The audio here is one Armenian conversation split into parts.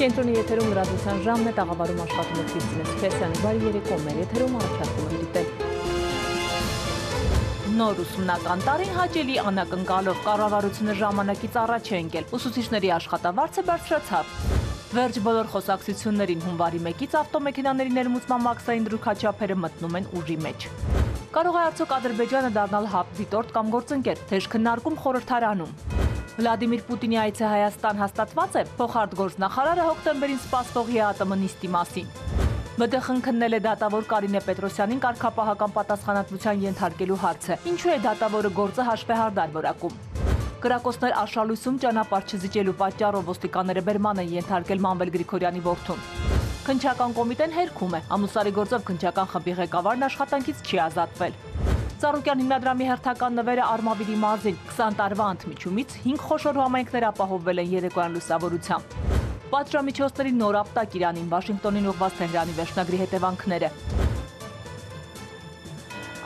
Կենտրոնի եթերում լրատվության ժամն է, տաղավարում աշխատում է Քրիստինե Սուքեսյանի, բարի երեկո, մեր եթերում առաջարկում է դիտել։ Նոր ուսումնական տարին հաճելի անակնկալով, կառավարությունը ժամանակից առաջ է ընկել, ուսուցիչների աշխատավարձը բարձրացավ։ Վերջ բոլոր խոսակցություններին հունվարի 1-ից ավտոմեքենաների ներմուծման մաքսային դրույքաչափերը մտնում են ուժի մեջ։ Կարող է արդյոք Ադրբեջանը դառնալ հապ դիտորդ կամ գործընկեր, թեժ քննարկում խորհրդարանում։ Վլադիմիր Պուտինի այցը Հայաստան հաստատված է, փոխարտգործնախարարը հոկտեմբերին սպասվող ԵԱՏՄ նիստի մասին։ ԲԴԽ-ն քննել է դատավոր Կարինե Պետրոսյանին կարգապահական պատասխանատվության ենթարկելու հարցը, ինչու է դատավորը գործը հաշվեհարդար որակում։ Կրակոցներ Աշալույսում ճանապարհ չզիջելու պատճառով ոստիկանները բերման են ենթարկել Մանվել Գրիգորյանի որդուն։ Քննչական կոմիտեն հերքում է, ամուսարի գործով քննչական խմբի ղեկավարն աշխատանքից չի ազատվել։ Ծառուկյան հիմնադրամի հերթական նվերը Արմավիրի մարզին 20 տարվա ընդմիջումից 5 խոշոր համայնքներ ապահովվել են երեկոյան լուսավորությամբ։ Պատժամիջոցների նոր ապտակ Իրանին, Վաշինգտոնին ուղղված Թեհրանի վերջնագրի հետևանքները։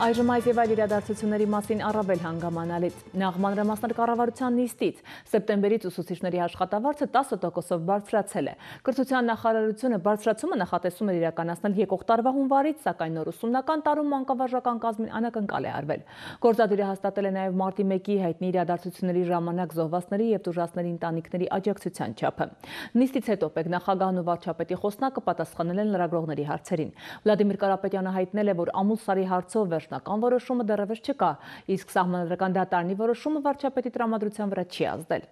Այժմ այս եւ այլ իրադարձությունների մասին առավել հանգամանալից։ Նախ մանրամասներ կառավարության նիստից սեպտեմբերից ուսուցիչների աշխատավարձը 10%-ով բարձրացել է։ Կրթության նախարարությունը բարձրացումը նախատեսում էր իրականացնել եկող տարվա հունվարից, սակայն նոր ուսումնական տարում մանկավարժական կազմին անակնկալ է արվել։ Գործադիրը հաստատել է նաեւ մարտի 1-ի հայտնի իրադարձությունների ժամանակ զոհվածների եւ տուժածների ընտանիքների աջակցության չափը։ Նիստից հետո պետնախագահն ու վարչապետի խոսնակը պատասխանել են լրագրողների հարցերին։ Վլադիմիր Կարապետյանը հայտնել է, որ ամուսարի հարցով Ական որոշումը դեռևս չկա, իսկ սահմանադրական դատարանի որոշումը վարչապետի տրամադրության վրա չի ազդել։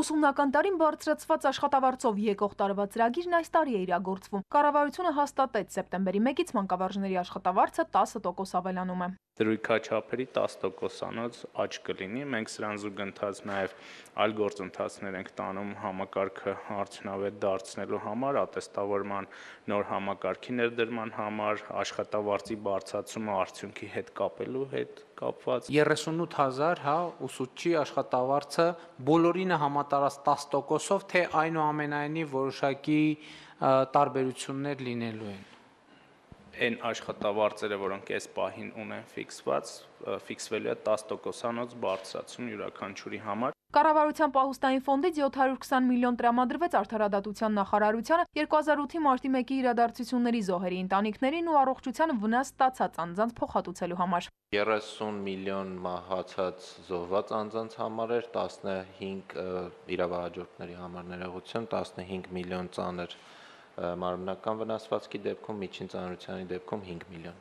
Ուսումնական տարին բարձրացված աշխատավարձով եկող տարվա ծրագիրն այս տարի է իրագործվում։ Կառավարությունը հաստատեց սեպտեմբերի 1-ից մանկավարժների աշխատավարձը 10% ավելանում է։ Դրույքաչափերի 10%-անոց աճ կլինի։ Մենք սրան զուգընթաց նաև այլ գործընթացներ ենք տանում համակարգը արդյունավետ դարձնելու համար, ատեստավորման նոր համակարգի ներդրման համար, աշխատավարձի բարձրացումը արդյունքի հետ կապելու հետ կապված։ 38,000 ուսուցչի աշխատավարձը բոլորինը համատարած 10%-ով, թե այնուամենայնիվ որոշակի տարբերություններ լինելու են։ Այն աշխատավարձերը, որոնք այս պահին ունեն ֆիքսվելու է 10%-անոց բարձրացում յուրաքանչյուրի համար։ Կառավարության պահուստային ֆոնդից 720 միլիոն տրամադրվեց Արդարադատության նախարարությանը 2008-ի մարտի 1-ի իրադարձությունների զոհերի ընտանիքներին ու առողջության վնաս ստացած անձանց փոխհատուցելու համար։ 30 միլիոն մահացած զոհված անձանց համար էր, 15 իրավահաջորդների համար ներողություն, 15 միլիոն ծանր մարմնական վնասվածքի դեպքում, միջին ծանրությանի դեպքում 5 միլիոն։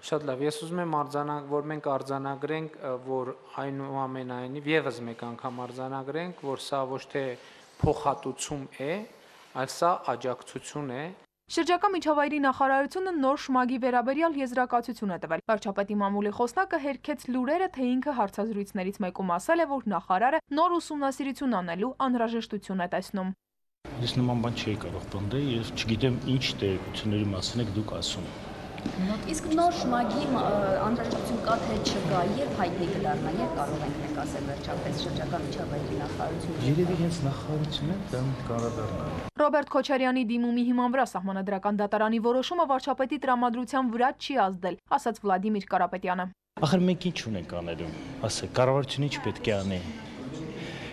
Շատ լավ, ես ուզում եմ որ մենք արձանագրենք, որ այնուամենայնիվ եւս մեկ անգամ արձանագրենք, որ սա ոչ թե փոխհատուցում է, այլ սա աջակցություն է։ Շրջակա միջավայրի նախարարությունը նոր շմագի վերաբերյալ եզրակացություն է տվել։ Վարչապետի մամուլի խոսնակը հերքեց լուրերը, թե ինքը հարցազրույցներից մեկում ասել է, որ նախարարը նոր ուսումնասիրություն անելու անհրաժեշտություն է տեսնում։ Ես նման բան չի կարող պնդել, ես չգիտեմ ինչ տեղեկությունների մասին եք դուք ասում։ Իսկ նոր շմագի անհրաժեշտություն կա թե չկա, երբ հայտնի կդառնա, երբ կարող ենք մենք ասել վերջապես շրջակա միջավայրի նախարարությունը։ Երևի հենց նախարարությունը դա կառադառնա։ Ռոբերտ Քոչարյանի դիմումի հիման վրա սահմանադրական դատարանի որոշումը վարչապետի տրամադրության վրա չի ազդել, ասաց Վլադիմիր Կարապետյանը։ Ախր մենք ինչ ունենք անելու, ասեք, կառավարությունը ինչ պետք է անի։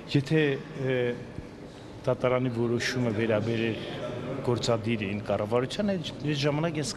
Եթե դատարանի որոշումը վերաբերել գործադիրին, կառավարությանը, այս ժամանակ ես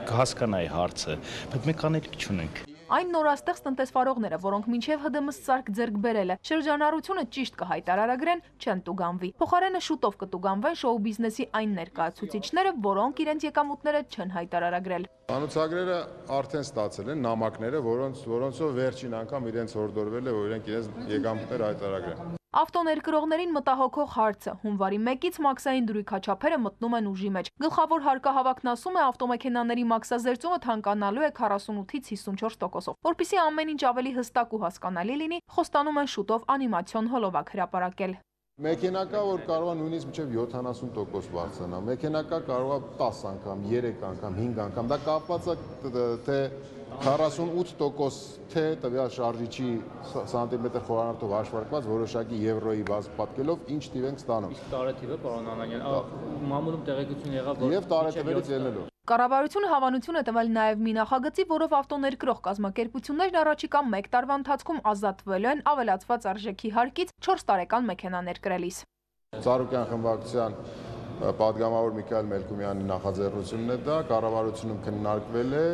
կհասկանայի հարցը, բայց մենք անելիք չունենք։ Այն նորաստեղծ տնտեսվարողները, որոնք մինչև ՀԴՄ սարք ձեռք բերել է, շրջանառությունը ճիշտ կհայտարարագրեն, չեն տուգանվի։ Փոխարենը շուտով կտուգանվեն շոու բիզնեսի այն ներկայացուցիչները, որոնք իրենց եկամուտները չեն հայտարարագրել։ Անուցագրերը արդեն ստացել են նամակները, որոնցով վերջին անգամ իրենց հորդորվել է, որ իրենք իրենց եկամուտները հայտարարագրեն։ Ավտոներկրողներին մտահոգող հարցը հունվարի 1-ից մաքսային դրույքաչափերը մտնում են ուժի մեջ։ Գլխավոր հարկահավաքն ասում է ավտոմեքենաների մաքսազերծումը թանկանալու է 48-ից 54%-ով։ Որպեսզի ամեն ինչ ավելի հստակ ու հասկանալի լինի, խոստանում են շուտով անիմացիոն հոլովակ հրապարակել։ Մեքենա կա, որ կարող է նույնիսկ մինչև 70% բարձրանա։ Մեքենա կա, կարող է 10 անգամ, 3 անգամ, 5 անգամ։ Դա կապված է թե 48% թե տվյալ շարժիչի սանտիմետր խորանարդով հաշվարկված որոշակի եվրոյի բազ պատկելով ինչ տիվ ենք ստանում։ Իսկ տարեթիվը, պարոն Անանյան, մամուլում տեղեկություն եղավ, որ եւ տարեթվերից ելնելով։ Կառավարությունը հավանություն է տվել նաև մի նախագծի, որով ավտոներկրող կազմակերպություններն առաջիկա 1 տարվա ընթացքում ազատվելու են ավելացված արժեքի հարկից 4 տարեկան մեքենա ներկրելիս։ Ծառուկյան խմբակցության պատգամավոր Միքայել Մելքումյանի նախաձեռնությունն է դա, կառավարությունում քննարկվել է,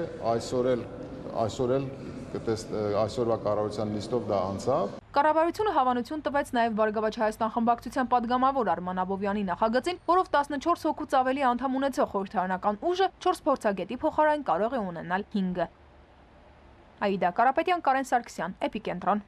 այսօրվա կառավարության նիստով դա անցավ։ Կառավարությունը հավանություն տվեց նաև Բարգավաճ Հայաստան խմբակցության պատգամավոր Արման Աբովյանի նախագծին, որով 14 հոգուց ավելի անդամ ունեցող խորհրդարանական ուժը 4 փորձագետի փոխարեն կարող է ունենալ 5-ը։ Աիդա Կարապետյան, Կարեն Սարգսյան, Էպիկենտրոն։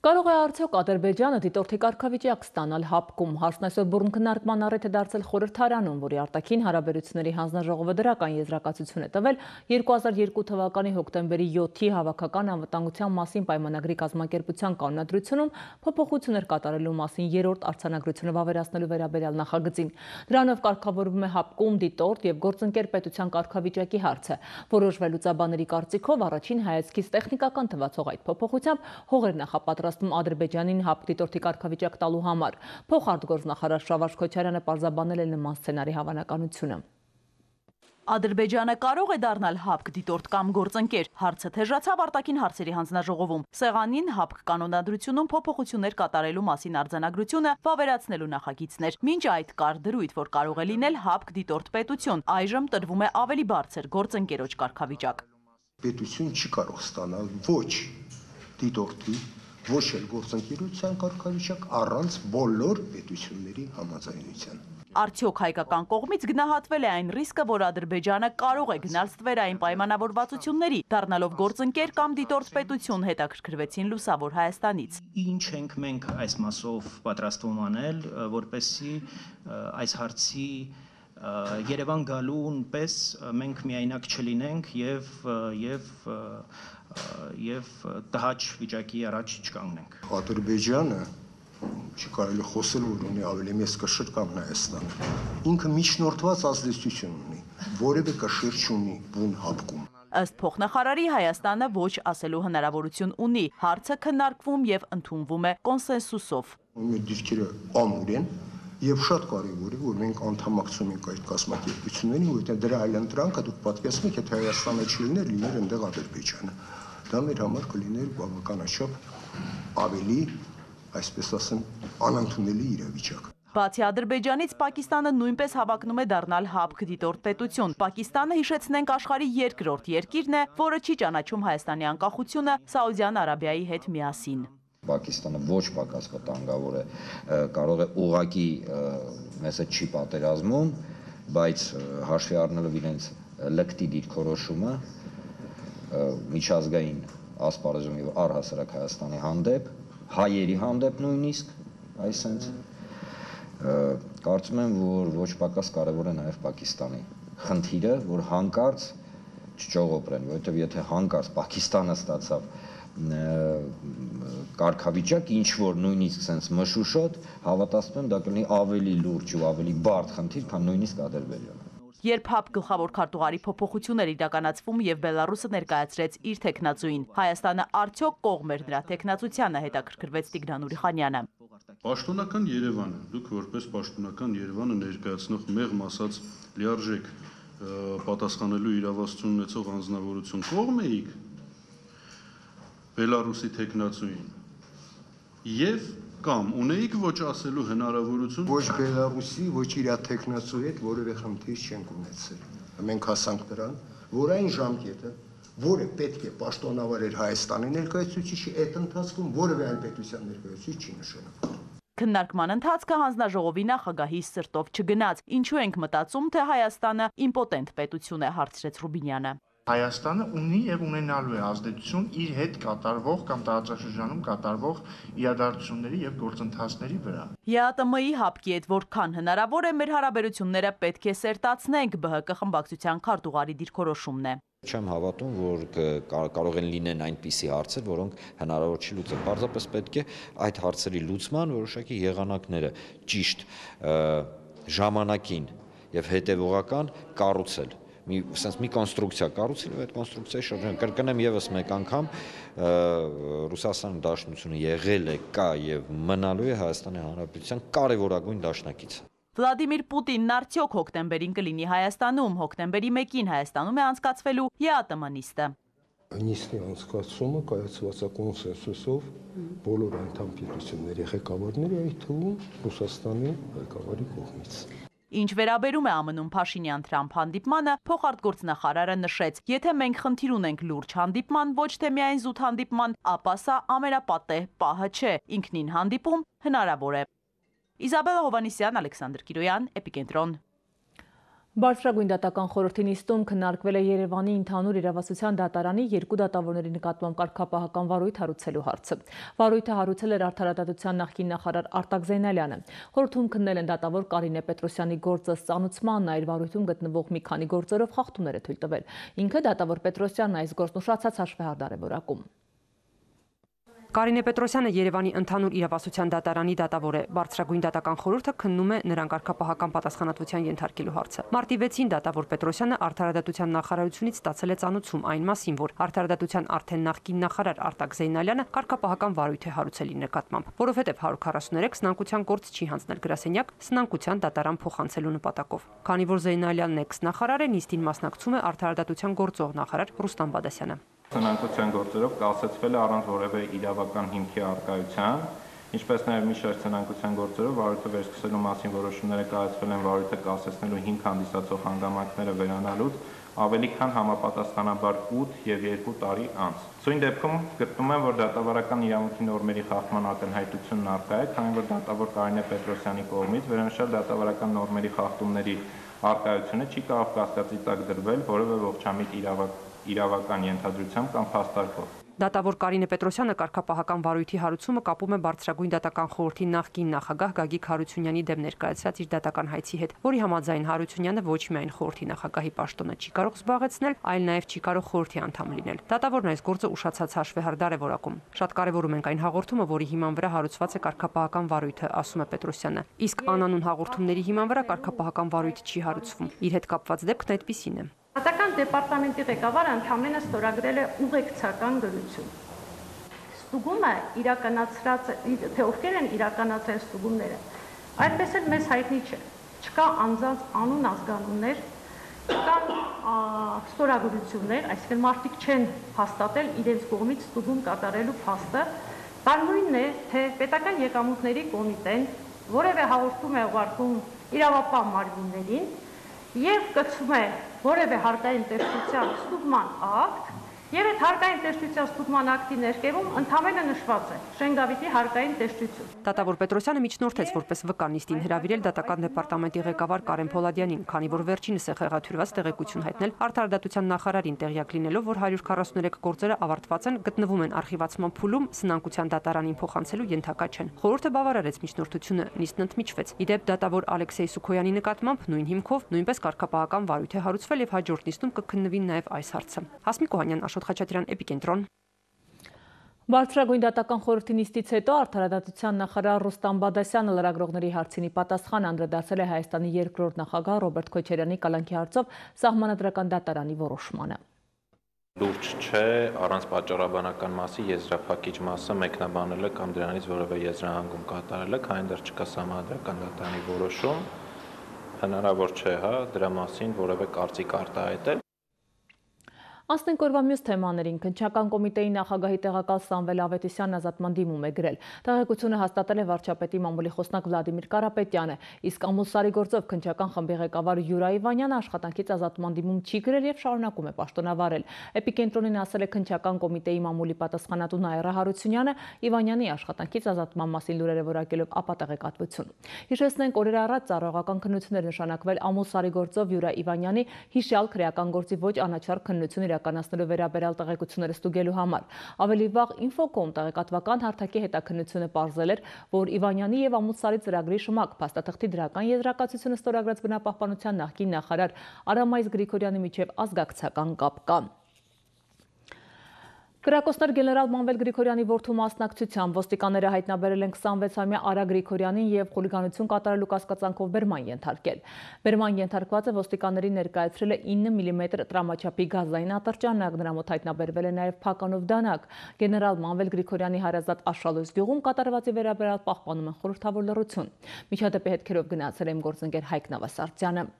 Կարող է արդյոք Ադրբեջանը դիտորդի կարգավիճակ ստանալ ՀԱՊԿ-ում։ Հարցն այսօր բուռն քննարկման առիթ է դարձել խորհրդարանում, որի արտաքին հարաբերությունների հանձնաժողովը դրական եզրակացություն է տվել 2002 թվականի հոկտեմբերի 7-ի հավաքական անվտանգության մասին պայմանագրի կազմակերպության կանոնադրությունում փոփոխություններ կատարելու մասին 3-րդ արձանագրությունը վավերացնելու վերաբերյալ նախագծին։ Դրանով կարգավորվում է ՀԱՊԿ-ում դիտորդ եւ գործընկեր պետության կարգավիճակի հարցը։ Որոշվելուծաբանների կարծիքով առաջին հայացքից տեխնիկական թվացող այդ փոփոխությամբ հողեր նախապատրաստում Ադրբեջանին ՀԱՊԿ դիտորդի կարգավիճակ տալու համար։ Փոխարտգործնախարար Շավարժ Քոչարյանը պարզաբանել է նման սցենարի հավանականությունը։ Ադրբեջանը կարող է դառնալ ՀԱՊԿ դիտորդ կամ գործընկեր։ Հարցը թեժացավ արտաքին հարցերի հանձնաժողովում։ Սեղանին ՀԱՊԿ կանոնադրությունում փոփոխություններ կատարելու մասին արձանագրությունը վավերացնելու նախագիծներ։ Մինչ այդ կար դրույթ, որ կարող է լինել ՀԱՊԿ դիտորդ պետություն։ Այժմ տրվում է ավելի բարձր գործընկերոջ կարգավիճակ։ Պետություն չի կարող ստանալ ոչ դիտորդի, ոչ էլ գործընկերության կարգավիճակ առանց բոլոր պետությունների համաձայնության։ Արդյոք հայկական կողմից գնահատվել է այն ռիսկը, որ Ադրբեջանը կարող է գնալ ստվերային պայմանավորվածությունների, դառնալով գործընկեր կամ դիտորդ պետություն, հետաքրքրվեցին Լուսավոր Հայաստանից։ Ինչ ենք մենք այս մասով պատրաստվում անել, որպեսզի այս հարցի Երևան գալուն պես մենք միայնակ չլինենք եւ տհաճ վիճակի առաջ չկանգնենք։ Ադրբեջանը չի կարելի խոսել, որ ունի ավելի մեծ կշիռ կամ Հայաստանը։ Ինքը միջնորդված ազդեցություն ունի, որևէ կշիռ չունի բուն ՀԱՊԿ-ում։ Ըստ փոխնախարարի Հայաստանը ոչ ասելու հնարավորություն ունի։ Հարցը քննարկվում եւ ընդունվում է կոնսենսուսով։ Մեր դիրքերը ամուր են եւ շատ կարեւոր է, որ մենք անդամակցում ենք այդ կազմակերպություններին, որովհետեւ դրա այլընտրանքը դուք պատկերացնեք, եթե Հայաստանը չլիներ, լիներ այնտեղ Ադրբեջանը։ Դա մեր համար կլիներ բավականաչափ ավելի, այսպես ասեմ, անընդունելի իրավիճակ։ Բացի Ադրբեջանից Պակիստանը նույնպես հավակնում է դառնալ ՀԱՊԿ դիտորդ պետություն։ Պակիստանը, հիշեցնենք, աշխարհի երկրորդ երկիրն է, որը չի ճանաչում Հայաստանի անկախությունը Սաուդյան Արաբիայի հետ միասին։ Պակիստանը ոչ պակաս վտանգավոր է, կարող է ուղղակի մեզ հետ չի պատերազմում, բայց հաշվի առնելով իրենց լկտի դիրքորոշումը միջազգային ասպարեզում եւ առհասարակ Հայաստանի հանդեպ, հայերի հանդեպ նույնիսկ, այսինքն կարծում եմ, որ ոչ պակաս կարևոր է նաեւ Պակիստանի խնդիրը, որ հանկարծ չճողոպրեն, որովհետեւ եթե հանկարծ Պակիստանը ստացավ կարգավիճակ, ինչ որ նույնիսկ sense մշուշոտ, հավատացնում եմ, դա կլինի ավելի լուրջ ու ավելի բարդ խնդիր, քան նույնիսկ Ադրբեջանը։ Երբ ՀԱՊԿ գլխավոր քարտուղարի փոփոխություններ իրականացվում եւ Բելարուսը ներկայացրեց իր տեխնացուին, Հայաստանը արդյոք կողմ էր նրա տեխնացությանը, հետաքրքրվեց Տիգրան Ուրիխանյանը։ Պաշտոնական Երևանը, դուք որպես պաշտոնական Երևանը ներկայացնող մեղմ ասած լիարժեք պատասխանելու իրավասություն ունեցող անձնավորություն կողմ էիք Բելարուսի տեխնացուին եւ կամ ունեիք ոչ ասելու հնարավորություն ոչ Բելարուսի, ոչ իր տեխնացու հետ որևէ խնդիր չենք ունեցել։ Մենք հասանք նրան, որ այն ժամկետը, որը պետք է պաշտոնավոր էր Հայաստանի ներկայացուցիչի, այդ ընթացքում որևէ այլ պետության ներկայացուցիչ չի նշանակվում։ Քննարկման ընթացքը հանձնաժողովի նախագահի սրտով չգնաց։ Ինչու ենք մտածում, թե Հայաստանը իմպոտենտ պետություն է, հարցրեց Ռուբինյանը։ Հայաստանը ունի եւ ունենալու է ազդեցություն իր հետ կատարվող կամ տարածաշրջանում կատարվող իրադարձությունների եւ գործընթացների վրա։ ԵԱՏՄ-ի ՀԱՊԿ-ի հետ որքան հնարավոր է մեր հարաբերությունները պետք է սերտացնենք, ԲՀԿ խմբակցության քարտուղարի դիրքորոշումն է։ Չեմ հավատում, որ կարող են լինեն այնպիսի հարցեր, որոնք հնարավոր չի լուծել։ Պարզապես պետք է այդ հարցերի լուծման որոշակի եղանակները ճիշտ ժամանակին եւ հետեւողական կառուցել։ Մի կոնստրուկցիա կառուցել եւ այդ կոնստրուկցիայի շրջանում կրկնեմ եւս մեկ անգամ Ռուսաստանի Դաշնությունը եղել է, կա եւ մնալու է Հայաստանի Հանրապետության կարևորագույն դաշնակիցը։ Վլադիմիր Պուտինն արդյոք հոկտեմբերին կլինի Հայաստանում, հոկտեմբերի 1-ին Հայաստանում է անցկացվելու ԵԱՏՄ նիստը։ նիստի անցկացումը կայացված է կոնսենսուսով բոլոր անդամ պետությունների ղեկավարների, այդ թվում Ռուսաստանի ղեկավարի կողմից։ Ինչ վերաբերում է ԱՄՆ-ում Փաշինյան-Թրամփ հանդիպմանը, փոխարտգործնախարարը նշեց, եթե մենք խնդիր ունենք լուրջ հանդիպման, ոչ թե միայն զուտ հանդիպման, ապա սա ամենապատեհ պահը չէ, ինքնին հանդիպում հնարավոր է։ Իզաբելլա Հովհաննիսյան, Ալեքսանդր Կիրոյան, Էպիկենտրոն։ Բարձրագույն դատական խորհրդի նիստում քննարկվել է Երևանի ընդհանուր իրավասության դատարանի երկու դատավորների նկատմամբ կարգապահական վարույթ հարուցելու հարցը։ Վարույթը հարուցել էր Արդարադատության նախկին նախարար Արտակ Զեյնալյանը։ Խորհրդում քննել են դատավոր Կարինե Պետրոսյանի գործը ստանուցմանն, այլ վարույթում գտնվող մի քանի գործերով խախտումներ է թույլ տվել։ Ինքը դատավոր Պետրոսյանն այս գործն ուշացած հաշվեհարդար է որակում։ Կարինե Պետրոսյանը Երևանի ընդհանուր իրավասության դատարանի դատավոր է։ Բարձրագույն դատական խորհուրդը քննում է նրան կարգապահական պատասխանատվության ենթարկելու հարցը։ Մարտի 6-ին դատավոր Պետրոսյանը Արդարադատության նախարարությունից ստացել է ծանուցում այն մասին, որ Արդարադատության արդեն նախկին նախարար Արտակ Զեյնալյանը կարգապահական վարույթ է հարուցել իր նկատմամբ, որովհետև 143 սնանկության գործ չի հանձնել գրասենյակ սնանկության դատարան փոխանցելու նպատակով։ Քանի որ Զեյնալյանն էքս-նախարար է, նիստին մասնակցում է Արդարադատության գործող նախարար Ռուստամ Բադասյանը։ Սնանկության գործերով կասեցվել է առանց որևէ իրավական հիմքի առկայության, ինչպես նաև մի շարք սնանկության գործերով վարույթը վերսկսելու մասին որոշումները կայացվել են վարույթը կասեցնելու հիմք հանդիսացող հանգամանքները վերանալուց ավելի քան համապատասխանաբար 8 եւ 2 տարի անց։ Սույն դեպքում գտնում եմ, որ դատավարական իրավունքի նորմերի խախտման ակնհայտությունն առկա է, քանի որ դատավոր Կարինե Պետրոսյանի կողմից վերոնշյալ դատավարական նորմերի խախտումների առկայությունը չի կարող կասկածի տակ դրվել որևէ ողջամիտ իրավական ենթադրությամբ կամ փաստարկով։ Դատավոր Կարինե Պետրոսյանը կարգապահական վարույթի հարուցումը կապում է Բարձրագույն դատական խորհրդի նախկին նախագահ Գագիկ Հարությունյանի դեմ ներկայացրած իր դատական հայցի հետ, որի համաձայն Հարությունյանը ոչ միայն խորհրդի նախագահի պաշտոնը չի կարող զբաղեցնել, այլ նաև չի կարող խորհրդի անդամ լինել։ Դատավորն այս գործը ուշացած հաշվեհարդար է որակում։ Շատ կարևորում ենք այն հաղորդումը, որի հիման վրա հարուցված է կարգապահական վարույթը, ասում է Պետրոսյանը։ Իսկ անանուն հաղորդումների հիման վրա կարգապահական վարույթ չի հարուցվում։ Իր հետ կապված դեպքն այդպիսին է։ Դատական դեպարտամենտի ղեկավարը ընդհանրապես ստորագրել է ուղեկցական գրություն։ Ստուգումը իրականացրած թե ովքեր են իրականացրել ստուգումները, այդպես էլ մեզ հայտնի չէ։ Չկա անձանց անուն ազգանուններ, չկան ստորագրություններ, այսինքն մարդիկ չեն հաստատել իրենց կողմից ստուգում կատարելու փաստը։ Բանույնն է, թե պետական եկամուտների կոմիտեն որևէ հաղորդում է ուղարկում իրավապահ մարմիններին եւ կցում է որևէ հարկային տեսչության ստուգման ակտ, եւ այդ հարկային տեսչության ստուգման ակտի ներկայում ընդհանրապես նշված է Շենգավիթի հարկային տեսչություն։ Դատավոր Պետրոսյանը միջնորդեց որպես վկա նիստին հրավիրել դատական դեպարտամենտի ղեկավար Կարեն Փոլադյանին, քանի որ վերջինս է խեղաթյուրված տեղեկություն հայտնել Արդարադատության նախարարին տեղյակ լինելով, որ 143 գործերը ավարտված են, գտնվում են արխիվացման փուլում, սնանկության դատարանին փոխանցելու ենթակա չեն։ Խորհուրդը բավարարեց միջնորդությունը, նիստն ընդմիջվեց։ Իդեպ դատավոր Ալեքսեյ Սուքոյանի նկատմամբ նույն հիմքով նույնպես կարգապահական վարույթ է հարուցվել եւ հաջորդ նիստում կքննվի նաեւ այս հարցը։ Հասմիկ Օհանյան, Աշոտ Խաչատրյան, Էպիկենտրոն։ Բարձրագույն դատական խորհրդի նիստից հետո Արդարադատության նախարար Ռուստամ Բադասյանը լրագրողների հարցինի պատասխան անդրադարձել է Հայաստանի երկրորդ նախագահ Ռոբերտ Քոչարյանի կալանքի հարցով Սահմանադրական դատարանի որոշմանը։ Լուրջ չէ, առանց պատճառաբանական մասի եզրափակիչ մասը մեկնաբանելը կամ դրանից որևէ եզրահանգում կատարելը, քանի դեռ չկա Սահմանադրական դատարանի որոշում, հնարավոր չէ, դրա մասին որևէ կարծիք արտահայտել։ Անցնենք օրվա մյուս թեմաներին։ Քննչական կոմիտեի նախագահի տեղակալ Սամվել Ավետիսյանն ազատման դիմում է գրել։ Տեղեկությունը հաստատել է վարչապետի մամուլի խոսնակ Վլադիմիր Կարապետյանը, իսկ Ամուսարի գործով քննչական խմբի ղեկավար Յուրա Իվանյանը աշխատանքից ազատման դիմում չի գրել եւ շարունակում է պաշտոնավարել։ Էպիկենտրոնին ասել է քննչական կոմիտեի մամուլի պատասխանատու Նաիրա Հարությունյանը Իվանյանի աշխատանքից ազատման մասին լուրերը որակելով ապատեղեկատվություն։ Հիշեցնենք, օրեր առաջ ծառայողական քննություններ նշանակվել Ամուսարի գործով Յուրա Իվանյանի հիշյալ քրեական գործի ոչ անաչառ քննություն իրականացնելու վերաբերյալ տեղեկությունները ստուգելու համար։ Ավելի վաղ Infocom տեղեկատվական հարթակի հետաքննությունը պարզել էր, որ Իվանյանի եւ Ամուսարի ծրագրի շմակ փաստաթղթի դրական եզրակացությունը ստորագրած բնապահպանության նախկին նախարար Արամայիս Գրիգորյանի միջև ազգակցական կապ կա։ Կրակոցներ գեներալ Մանվել Գրիգորյանի որդու մասնակցությամբ ոստիկանները հայտնաբերել են 26-ամյա Արա Գրիգորյանին եւ խուլիգանություն կատարելու կասկածանքով բերման ենթարկել։ Բերման ենթարկվածը ոստիկաններին ներկայացրել է 9 մմ տրամաչափի գազային ատրճանակ, նրա մոտ հայտնաբերվել է նաեւ փականով դանակ։ Գեներալ Մանվել Գրիգորյանի հարազատ Աշխալույս գյուղում կատարվածի վերաբերյալ պահպանում են խորհրդավոր լռություն։ Միջադեպի հետքերով գնացել է իմ գործընկեր Հայկ Նավասարդյանը։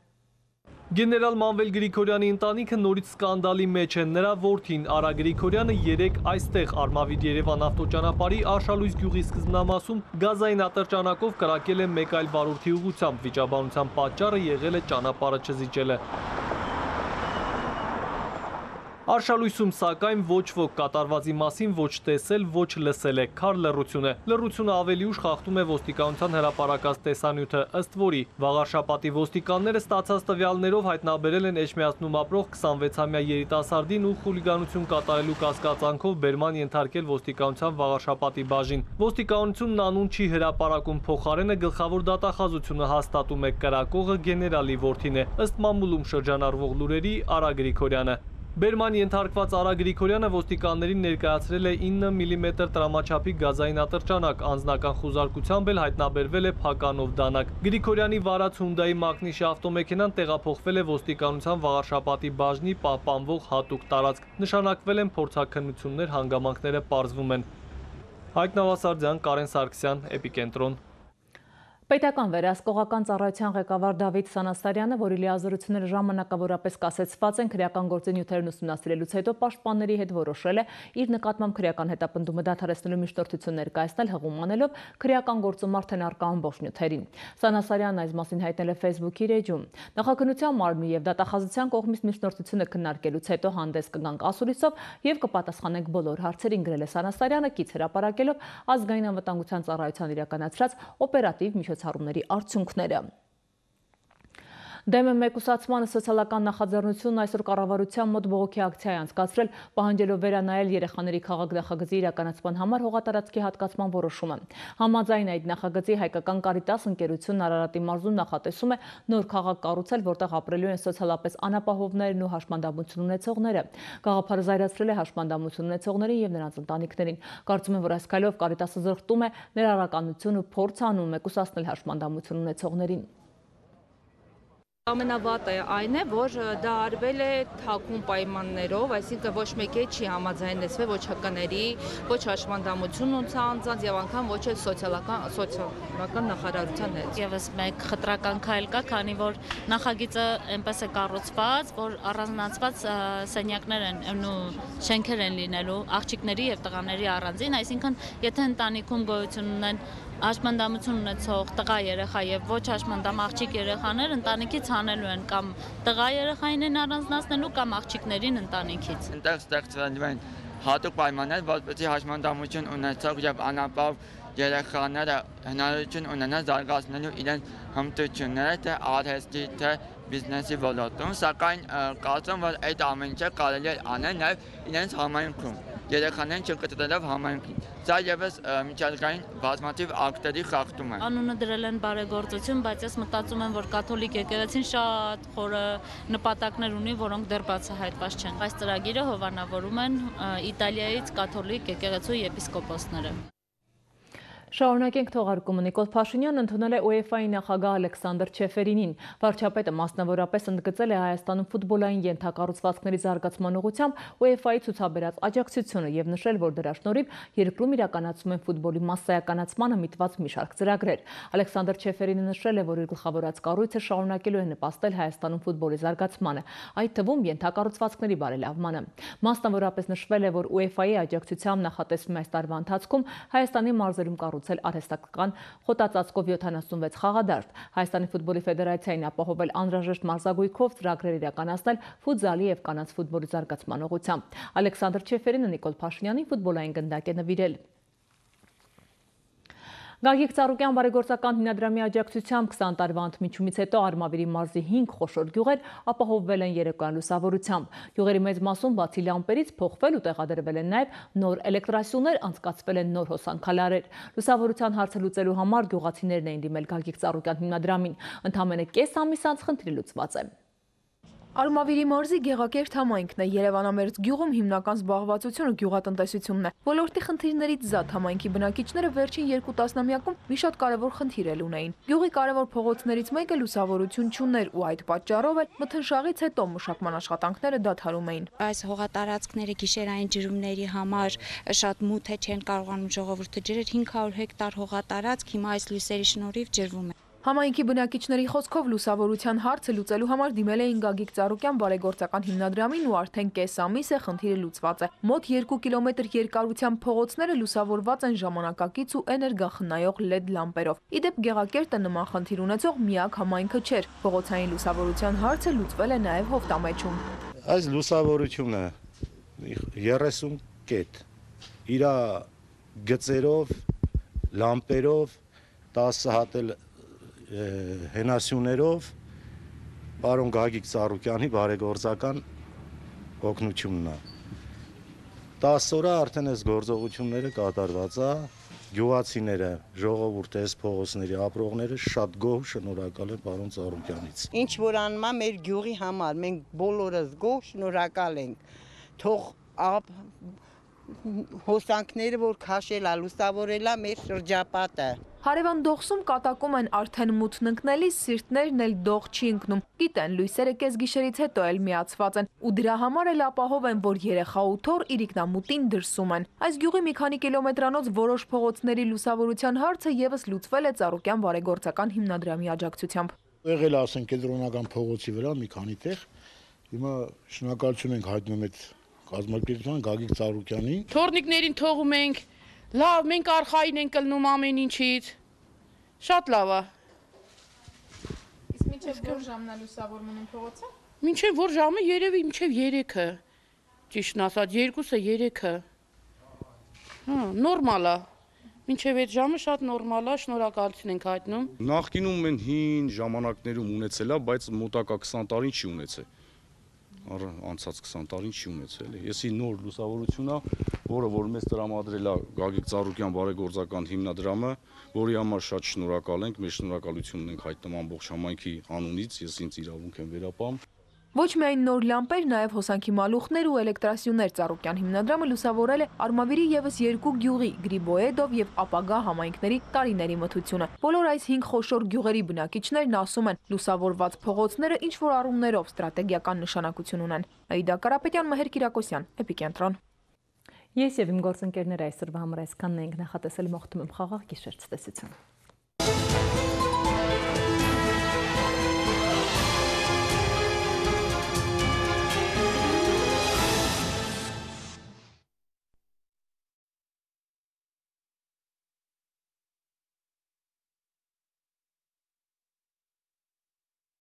Գեներալ Մանվել Գրիգորյանի ընտանիքը նորից սկանդալի մեջ է։ Նրա որդին Արա Գրիգորյանը երեկ այստեղ Արմավիր-Երևան ավտոճանապարհի Արշալույս գյուղի սկզբնամասում գազային ատրճանակով կրակել է մեկ այլ վարորդի ուղղությամբ։ Վիճաբանության պատճառը եղել է ճանապարհը չզիջելը։ Արշալույսում սակայն ոչ ոք կատարվածի մասին ոչ տեսել, ոչ լսել է, քար լռություն է։ Լռությունը ավելի ուշ խախտում է ոստիկանության հրապարակած տեսանյութը, ըստ որի վաղարշապատի ոստիկանները ստացած տվյալներով հայտնաբերել են Էջմիածնում ապրող 26-ամյա երիտասարդին ու խուլիգանություն կատարելու կասկածանքով բերման ենթարկել ոստիկանության վաղարշապատի բաժին։ Ոստիկանությունն անուն չի հրապարակում, փոխարենը գլխավոր դատախազությունը հաստատում է կրակողը գեներալի որդին է, ըստ մամուլում շրջանառվող լուրերի Արա Գրիգորյանը։ Բերման ենթարկված Արա Գրիգորյանը ոստիկաններին ներկայացրել է 9 մմ տրամաչափի գազային ատրճանակ, անձնական խուզարկությամբ էլ հայտնաբերվել է փականով դանակ։ Գրիգորյանի վարած Հյունդայի Մակնիշի ավտոմեքենան տեղափոխվել է ոստիկանության վաղարշապատի բաժնի պահպանվող հատուկ տարածք։ Նշանակվել են փորձաքննություններ, հանգամանքները պարզվում են։ Հայկ Նավասարդյան, Կարեն Սարգսյան, Էպիկենտրոն։ Պետական վերահսկողական ծառայության ղեկավար Դավիթ Սանասարյանը, որի լիազորությունները ժամանակավորապես կասեցված են քրեական գործի նյութերն ուսումնասիրելուց հետո պաշտպանների հետ որոշել է իր նկատմամբ քրեական հետապնդումը դադարեցնելու միջնորդություն ներկայացնել, հղում անելով քրեական գործում արդեն առկա ամբողջ նյութերին։ Սանասարյանն այս մասին հայտնել է Facebook-ի էջում։ Նախաքննության մարմնի եւ դատախազության կողմից միջնորդությունը քննարկելուց հետո հանդես կգանք ասուլիսով եւ կպատասխանենք բոլոր հարցերին, գրել է Սանասարյանը կից հրապարակելով ազգային անվտանգության ծառայության իրականացրած օպերատիվ միջոցառումների արդյունքները։ Դեմ է մեկուսացմանը սոցիալական նախաձեռնությունն այսօր կառավարության մոտ բողոքի ակցիա է անցկացրել, պահանջելով վերանայել երեխաների քաղաք նախագծի իրականացման համար հողատարածքի հատկացման որոշումը։ Համաձայն այդ նախագծի հայկական Կարիտաս ընկերությունն Արարատի մարզում նախատեսում է նոր քաղաք կառուցել, որտեղ ապրելու են սոցիալապես անապահովներն ու հաշմանդամություն ունեցողները։ Գաղափարը զայրացրել է հաշմանդամություն ունեցողներին եւ նրանց ընտանիքներին։ Կարծում եմ, որ այս քայլով Կարիտասը զրկտում է ներառականություն ու փորձ անում մեկուսացնել հաշմանդամություն ունեցողներին։ Ամենավատը այն է, որ դա արվել է թաքուն պայմաններով, այսինքն ոչ մեկի չի համաձայնեցվել ոչ հկների, ոչ հաշմանդամություն ունեցած եւ անգամ ոչ էլ սոցիալական նախարարության հետ։ Եվս մեկ խտրական քայլ կա, քանի որ նախագիծը այնպես է կառուցված, որ առանձնացված սենյակներ են ու շենքեր են լինելու աղջիկների եւ տղաների առանձին, այսինքն եթե ընտանիքում գոյություն ունեն հաշմանդամություն ունեցող տղա երեխա եւ ոչ հաշմանդամ աղջիկ երեխաներ ընտանիքից հանելու են կամ տղա երեխային են առանձնացնելու կամ աղջիկներին ընտանիքից։ Այնտեղ ստեղծվելու են հատուկ պայմաններ, որպեսզի հաշմանդամություն ունեցող եւ անապահով երեխաները հնարավորություն ունենան զարգացնելու իրենց հմտությունները թե արհեստի թե բիզնեսի ոլորտում, սակայն կարծում որ այդ ամեն ինչը կարելի է անել նաեւ իրենց համայնքում։ Երեխաներին չկտրելով համայնքին։ Սա եւս միջազգային բազմաթիվ ակտերի խախտում է։ Անունը դրել են բարեգործություն, բայց ես մտածում եմ, որ կաթոլիկ եկեղեցին շատ խորը նպատակներ ունի, որոնք դեռ բացահայտված չեն։ Այս ծրագիրը հովանավորում են Իտալիայից կաթոլիկ եկեղեցու եպիսկոպոսները։ Շարունակենք թողարկումը։ Նիկոլ Փաշինյանն ընդունել է UEFA-ի նախագահ Ալեքսանդր Չեֆերինին։ Վարչապետը մասնավորապես ընդգծել է Հայաստանում ֆուտբոլային ենթակառուցվածքների զարգացման ուղղությամբ UEFA-ի ցուցաբերած աջակցությունը եւ նշել, որ դրա շնորհիվ երկրում իրականացում են ֆուտբոլի մասսայականացմանը միտված մի շարք ծրագրեր։ Ալեքսանդր Չեֆերինը նշել է, որ իր գլխավորած կառույցը շարունակելու է նպաստել Հայաստանում ֆուտբոլի զարգացմանը, այդ թվում ենթակառուցվածքների բարելավմանը։ Մասնավորապես նշվել է, որ UEFA-ի աջակցությամբ նախատեսվում է այս տարվա ընթացքում Հայաստանի մարզերում արհեստական խոտածածկով 76 խաղադաշտ, Հայաստանի ֆուտբոլի ֆեդերացիային ապահովել անհրաժեշտ մարզագույքով ծրագրեր իրականացնել ֆուտզալի եւ կանանց ֆուտբոլի զարգացման ուղղությամբ։ Ալեքսանդր Չեֆերինը Նիկոլ Փաշինյանին ֆուտբոլային գնդակ է նվիրել։ Գագիկ Ծառուկյան բարեգործական հիմնադրամի աջակցությամբ 20 տարվա ընդմիջումից հետո Արմավիրի մարզի 5 խոշոր գյուղեր ապահովվել են երեկոյան լուսավորությամբ։ Գյուղերի մեծ մասում բացի լամպերից փոխվել ու տեղադրվել են նաև նոր էլեկտրասյուներ, անցկացվել են նոր հոսանքալարեր։ Լուսավորության հարցը լուծելու համար գյուղացիներն էին դիմել Գագիկ Ծառուկյան հիմնադրամին։ Ընդամենը կես ամիս անց խնդիրը լուծված է։ Արմավիրի մարզի գեղակերտ համայնքն է, Երևանամերձ գյուղում հիմնական զբաղվածությունը գյուղատնտեսությունն է։ Ոլորտի խնդիրներից զատ համայնքի բնակիչները վերջին 2 տասնամյակում մի շատ կարևոր խնդիր էլ ունեին։ Գյուղի կարևոր փողոցներից մեկը լուսավորություն չուներ ու այդ պատճառով էլ մթնշաղից հետո մշակման աշխատանքները դադարում էին։ Այս հողատարածքները գիշերային ջրումների համար շատ մութ է, չեն կարողանում ժողովուրդը ջրել, 500 հեկտար հողատարածք հիմա այս լույսերի շնորհիվ ջրվում է։ Համայնքի բնակիչների խոսքով լուսավորության հարցը լուծելու համար դիմել էին Գագիկ Ծառուկյան բարեգործական հիմնադրամին ու արդեն կես ամիս է խնդիրը լուծված է։ Մոտ 2 կիլոմետր երկարությամբ փողոցները լուսավորված են ժամանակակից ու էներգախնայող LED լամպերով։ Իդեպ Գեղակերտը նման խնդիր ունեցող միակ համայնքը չէր։ Փողոցային լուսավորության հարցը լուծվել է նաև Հովտամեջում։ Այս լուսավորությունը 30 կետ իր գծերով, լամպերով, 10 հատել հենասյուներով պարոն Գագիկ Ծառուկյանի բարեգործական օգնությունն է։ 10 օր արդեն այս գործողությունները կատարված է, գյուղացիները, ժողովուրդը, այս փողոցների ապրողները շատ գոհ շնորհակալ են պարոն Ծառուկյանից։ Ինչ որ անում է մեր գյուղի համար, մենք բոլորս գոհ շնորհակալ ենք։ Թող հոսանքները, որ քաշել է, լուսավորել է մեր շրջապատը։ Հարևան Դողսում կատակում են արդեն մութն ընկնելիս, սիրտներն էլ դող չի ընկնում։ Գիտեն, լույսերը կեսգիշերից հետո էլ միացված են ու դրա համար էլ ապահով են, որ երեխա ու թոռ իրիկնամուտին դրսում են։ Այս գյուղի մի քանի կիլոմետրանոց որոշ փողոցների լուսավորության հարցը եւս լուծվել է Ծառուկյան բարեգործական հիմնադրամի աջակցությամբ։ Եղել ասեն կենտրոնական փողոցի վրա մի քանի տեղ։ Հիմա շնորհակալություն ենք հայտնում այդ կազմակերպության Գագիկ Ծառուկյանին։ Թորնիկներին թողում ենք, լավ, մենք արխային ենք կլնում ամեն ինչից։ Շատ լավ է։ Իսկ մինչև որ ժամն է լուսավորվում են փողոցը։ Մինչև որ ժամը երևի մինչև 3-ը։ Ճիշտն ասած 2-ը 3-ը։ Նորմալ է։ Մինչև այդ ժամը շատ նորմալ է, շնորհակալություն ենք հայտնում։ Նախկինում մեն հին ժամանակներում ունեցել է, բայց մոտակա 20 տարին չի ունեցել։ Անցած 20 տարին չի ունեցել։ Եսի նոր լուսավորություն է, որը որ մեզ տրամադրել է Գագիկ Ծառուկյան բարեգործական հիմնադրամը, որի համար շատ շնորհակալ ենք, մեր շնորհակալությունն ենք հայտնում ամբողջ համայնքի անունից, ես ինձ իրավունք եմ վերապահում։ Ոչ միայն նոր լամպեր, նաև հոսանքի մալուխներ ու էլեկտրասյուներ Ծառուկյան հիմնադրամը լուսավորել է Արմավիրի եւս 2 գյուղի՝ Գրիբոեդով եւ ապագա համայնքների տարիների մթությունը։ Բոլոր այս 5 խոշոր գյուղերի բնակիչներն ասում են, լուսավորված փողոցները ինչ որ առումներով ստրատեգիական նշանակություն ունեն։ Աիդա Կարապետյան, Մհեր Կիրակոսյան, Էպիկենտրոն։ Ես եւ իմ գործընկերները այսօրվա համար այսքանն ենք նախատեսել, մաղթում եմ խաղաղ գիշեր, ցտեսություն։